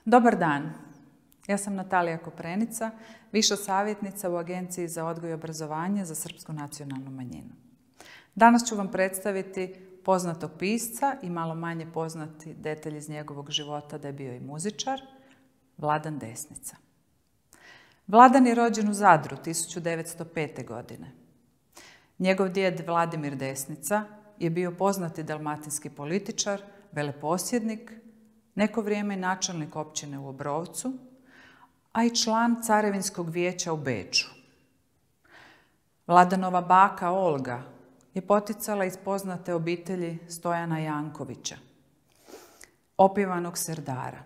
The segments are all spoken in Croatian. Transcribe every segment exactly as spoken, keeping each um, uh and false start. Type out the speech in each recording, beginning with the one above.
Dobar dan, ja sam Natalija Koprenica, viša savjetnica u Agenciji za odgoj i obrazovanje za srpsku nacionalnu manjinu. Danas ću vam predstaviti poznatog pisca i malo manje poznati detalj iz njegovog života da je bio i muzičar, Vladan Desnica. Vladan je rođen u Zadru tisuću devetsto pete. godine. Njegov djed Vladimir Desnica je bio poznati dalmatinski političar, veleposjednik, neko vrijeme načelnik općine u Obrovcu, a i član Carevinskog vijeća u Beču. Vladanova baka Olga je poticala iz poznate obitelji Stojana Jankovića, opjevanog serdara.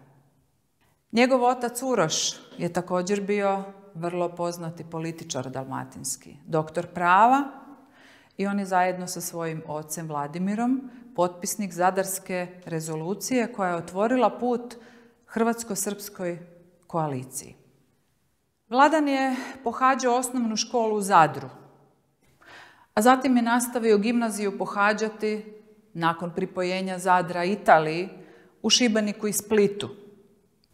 Njegov otac Uroš je također bio vrlo poznati političar dalmatinski, doktor prava, i on je zajedno sa svojim ocem Vladimirom potpisnik Zadarske rezolucije koja je otvorila put hrvatsko-srpskoj koaliciji. Vladan je pohađao osnovnu školu u Zadru, a zatim je nastavio gimnaziju pohađati nakon pripojenja Zadra Italiji u Šibeniku i Splitu.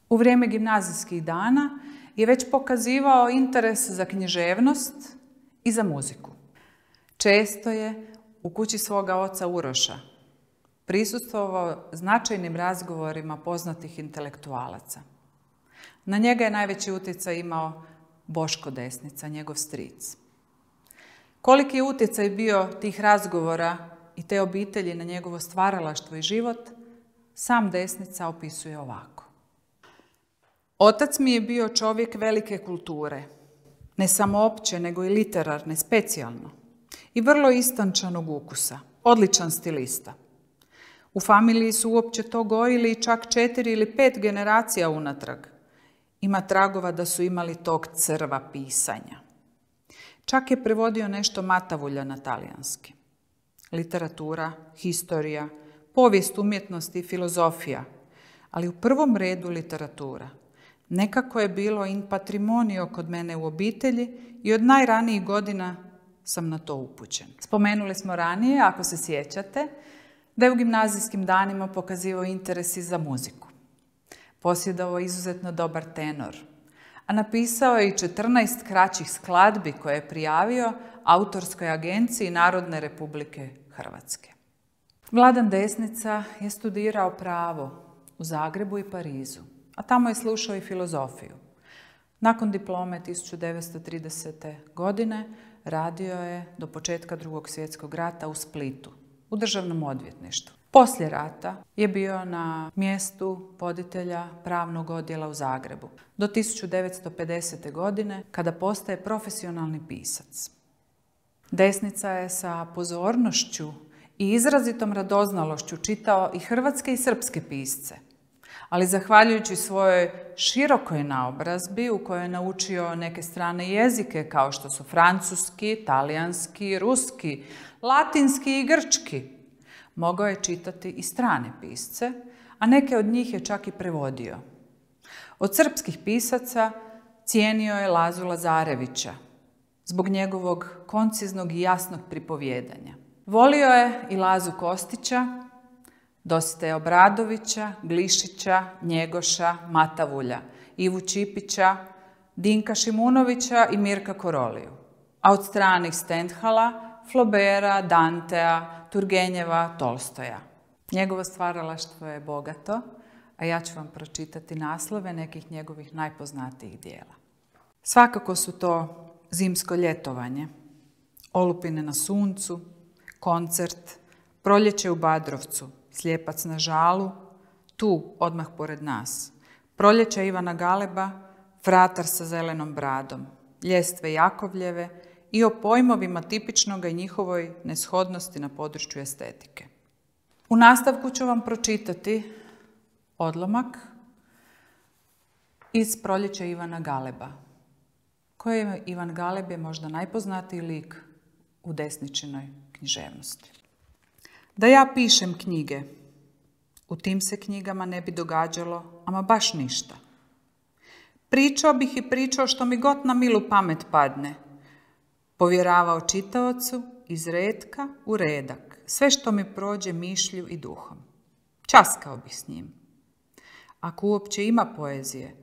U vrijeme gimnazijskih dana je već pokazivao interes za književnost i za muziku. Često je u kući svoga oca Uroša prisustvovao značajnim razgovorima poznatih intelektualaca. Na njega je najveći utjecaj imao Boško Desnica, njegov stric. Koliki je utjecaj bio tih razgovora i te obitelji na njegovo stvaralaštvo i život, sam Desnica opisuje ovako. Otac mi je bio čovjek velike kulture, ne samo opće, nego i literarne, specijalno, i vrlo istančanog ukusa, odličan stilista. U familiji su uopće to gojili čak četiri ili pet generacija unatrag. Ima tragova da su imali tog crva pisanja. Čak je prevodio nešto Matavulja na talijanski. Literatura, historija, povijest umjetnosti i filozofija, ali u prvom redu literatura. Nekako je bilo in patrimonio kod mene u obitelji i od najranijih godina sam na to upućen. Spomenuli smo ranije, ako se sjećate, da je u gimnazijskim danima pokazivao interes i za muziku. Posjedovao izuzetno dobar tenor, a napisao je i četrnaest kraćih skladbi koje je prijavio Autorskoj agenciji Narodne Republike Hrvatske. Vladan Desnica je studirao pravo u Zagrebu i Parizu, a tamo je slušao i filozofiju. Nakon diplome tisuću devetsto tridesete. godine radio je do početka Drugog svjetskog rata u Splitu, u državnom odvjetništvu. Poslije rata je bio na mjestu voditelja pravnog odjela u Zagrebu do tisuću devetsto pedesete. godine, kada postaje profesionalni pisac. Desnica je sa pozornošću i izrazitom radoznalošću čitao i hrvatske i srpske pisce, ali zahvaljujući svojoj širokoj naobrazbi u kojoj je naučio neke strane jezike kao što su francuski, talijanski, ruski, latinski i grčki, mogao je čitati i strane pisce, a neke od njih je čak i prevodio. Od srpskih pisaca cijenio je Lazu Lazarevića zbog njegovog konciznog i jasnog pripovijedanja. Volio je i Lazu Kostića, Dositeja Obradovića, Glišića, Njegoša, Matavulja, Ivu Čipića, Dinka Šimunovića i Mirka Koroliju. A od stranih Stendhala, Flobera, Dantea, Turgenjeva, Tolstoja. Njegovo stvaralaštvo je bogato, a ja ću vam pročitati naslove nekih njegovih najpoznatijih dijela. Svakako su to Zimsko ljetovanje, Olupine na suncu, Koncert, Proljeće u Badrovcu, Slijepac na žalu, Tu, odmah pored nas, Proljeće Ivana Galeba, Fratar sa zelenom bradom, Ljestve Jakovljeve i o pojmovima tipičnoga i njihovoj neshodnosti na području estetike. U nastavku ću vam pročitati odlomak iz Proljeća Ivana Galeba. Koji je Ivan Galeb je možda najpoznatiji lik u Desničinoj književnosti. Da ja pišem knjige, u tim se knjigama ne bi događalo ama baš ništa. Pričao bih i pričao što mi god na milu pamet padne. Povjeravao čitaocu iz retka u redak, sve što mi prođe mišlju i duhom. Časkao bih s njim. Ako uopće ima poezije,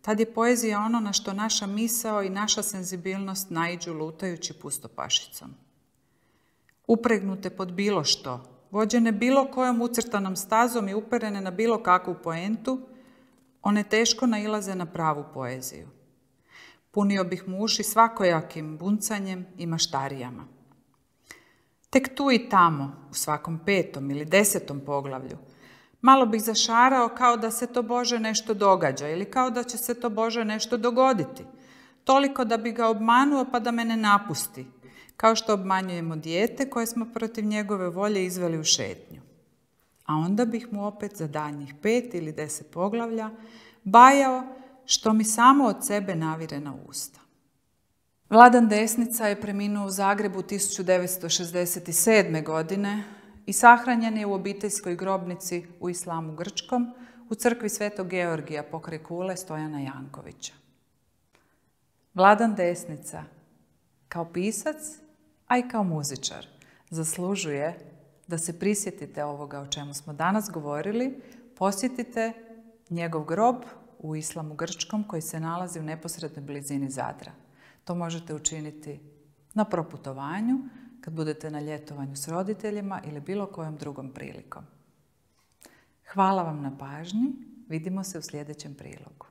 tad je poezija ono na što naša misao i naša senzibilnost naiđu lutajući pustopašicom. Upregnute pod bilo što, vođene bilo kojom ucrtanom stazom i uperene na bilo kakvu poentu, one teško nailaze na pravu poeziju. Punio bih mu uši svakojakim buncanjem i maštarijama. Tek tu i tamo, u svakom petom ili desetom poglavlju, malo bih zašarao kao da se to Bože nešto događa ili kao da će se to Bože nešto dogoditi, toliko da bi ga obmanuo pa da me ne napusti, kao što obmanjujemo dijete koje smo protiv njegove volje izveli u šetnju. A onda bih mu opet za daljnjih pet ili deset poglavlja bajao što mi samo od sebe navire na usta. Vladan Desnica je preminuo u Zagrebu tisuću devetsto šezdeset sedme. godine i sahranjen je u obiteljskoj grobnici u Islamu Grčkom u crkvi Svetog Georgija pokraj kule Stojana Jankovića. Vladan Desnica, kao pisac, a i kao muzičar, zaslužuje da se prisjetite ovoga o čemu smo danas govorili, posjetite njegov grob u Islamu Grčkom koji se nalazi u neposrednoj blizini Zadra. To možete učiniti na proputovanju, kad budete na ljetovanju s roditeljima ili bilo kojom drugom prilikom. Hvala vam na pažnji, vidimo se u sljedećem prilogu.